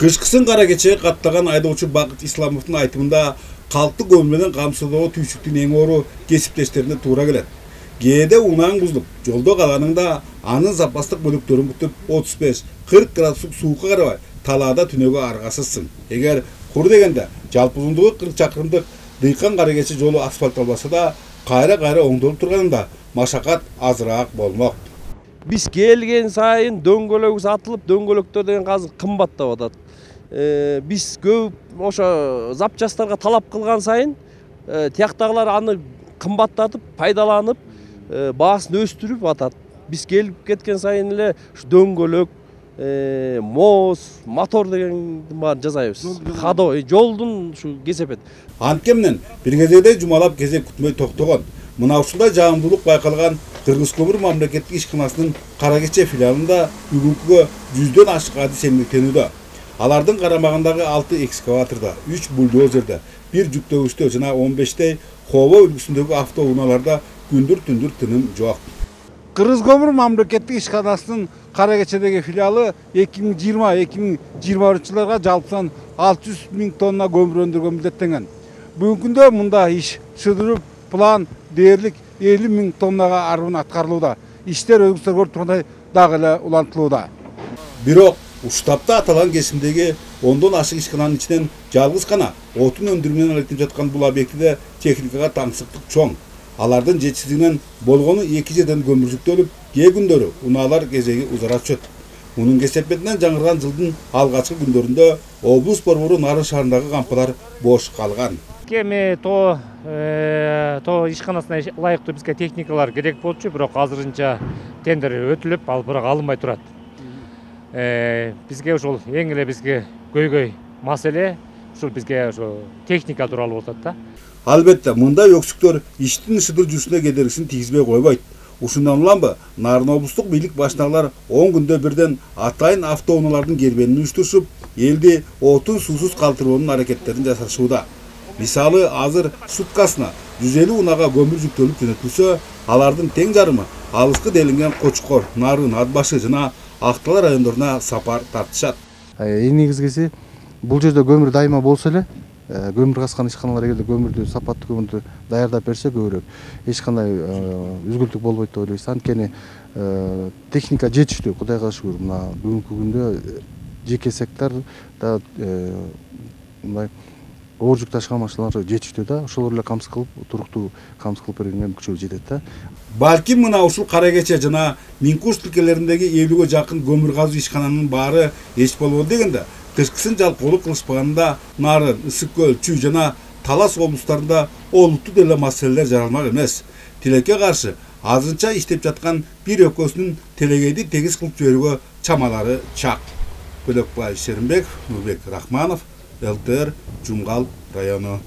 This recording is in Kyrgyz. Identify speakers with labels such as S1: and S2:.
S1: Кышкысын кара кечеге каттаган айдоочу Бакыт Исламовдун айтымында калкты көмүр менен камсыздоого түйшүктүн эң ору кесиптештерине туура келет. Кээде унааң бузулуп, жолдо калганыңда анын запастык бөлүктөрүн бүтүп 35-40 градустук суукка карабай талаада түнөгө аргасызсың. Эгер кур дегенде жалпы узундугу 40 чакырымдык дыйкан кара кече жолу асфальтталбаса да, кайра оңдолуп турганында машакат азыраак болмок.
S2: Биз келген сайын дөңгөлөгү сатылып, дөңгөлөктөр деген азыр кымбаттап атат. Биз көп ошо запчастарга талап кылган сайын тияктагылар аны кымбаттатып, пайдаланып, баасын өстүрүп атат. Биз келип кеткен сайын эле дөңгөлөк, моз, мотор дегендин баарын жасайбыз. Ходой, жолдун ушу кесепет.
S1: Анткени бир кезекте жумалап кезек күтмөй токтогон. Мына ушундай жаамдуулук байкалган Кыргыз көмүр мамлекеттик ишканасынын кара кече филиалында бүгүнкүгө 100дөн ашык адис эмгектенүүдө. Алардын карамагындагы 6 экскаваторда, 3 бульдозерде, 1 жүктөгүчтө жана 15 хобо үлгүсүндөгү автоунааларда күндүр-түндүр тыным жок.
S3: Кыргыз көмүр мамлекеттик ишканасынын кара кечедеги филиалы 2020-2021 жылдарга жалпыдан 600 000 тонна көмүр өндүргөн милдеттенген. Бүгүнкү күндө мында иш шыдырып, план дээрлик 50 000 тоннага арбын аткарылууда. Иштер өзгөртүлгөн тургандай дагы эле улантылууда.
S1: Бирок уштапта аталган кесимдеги 10дон ашык ишкананын ичинен жалгыз гана отун өндүрүү менен алектенип жаткан бул объектиде техникага таңсыктык чоң. Алардын жетишсиздигинен болгону 2 жерден көмүр жүктөлүп, кээ күндөрү унаалар кезеги узара түшөт. Мунун кесепетинен жаңырган жылдын алгачкы күндөрүндө облус борбору Нарын шаарындагы кампалар бош калган.
S4: Эми то ишканасына ылайыктуу бизге техникалар керек болчу, бирок азырынча тендер өтүлүп, ал бирок алынбай турат. Бизге ошол эң эле бизге көйгөй маселе ушул бизге ошо техника тууралуу болот да.
S1: Албетте, мындай өксүктөр иштин шыдыр жүрүшүнө кедергисин тийгизбей койбойт. Ушундан уламбы, Нарын облустук бийлик башчылар 10 күндө бирден атайын автоунаалардын кербенин уюштурушуп, элди отун суусуз калтырboonун аракеттерин жасашууда. Мисалы, азыр суткасына 150 унага көмүр жүктөлүп жөнөтүлсө, алардын тең жарымы алыскы делинген Кочкор, Нарын, Атбашы жана Актала райондоруна сапар тартышат.
S5: Эң негизгиси бул жерде көмүр дайыма болсо эле, көмүр каскан ишканалар эгерде көмүрдү сапаттуу көмүрдү даярдап берсе көбүрөөк эч кандай үзгүлтүк болбойт деп ойлойбуз. Анткени техника жетиштүү, Кудайга шүгүр. Мына бүгүнкү күндө жеке секторда мындай оор жүк ташыган машиналар жетиштүү да, ошолор эле камсыз кылып, туруктуу камсыз кылып берген мүмкүнчүлүгү жетет да.
S1: Балким мына ушул кара кече жана Минкуш тилкелериндеги 50ге жакын көмүр казуу ишкананын баары эч болбоду дегенде, кышкысын жалпылуулук кылышпаганда Нарын, Ысык көл, Чүй жана Талас облустарында олуттуу деле маселелер жаралмак эмес. Тилекке каршы азырынча иштеп жаткан бир өкөсүнүн телегейди тегиз кылып жиберүүгө чамалары чак. Бөлөкбаев Шеримбек, Нурбек Рахманов, ЛТР, Жумгал району.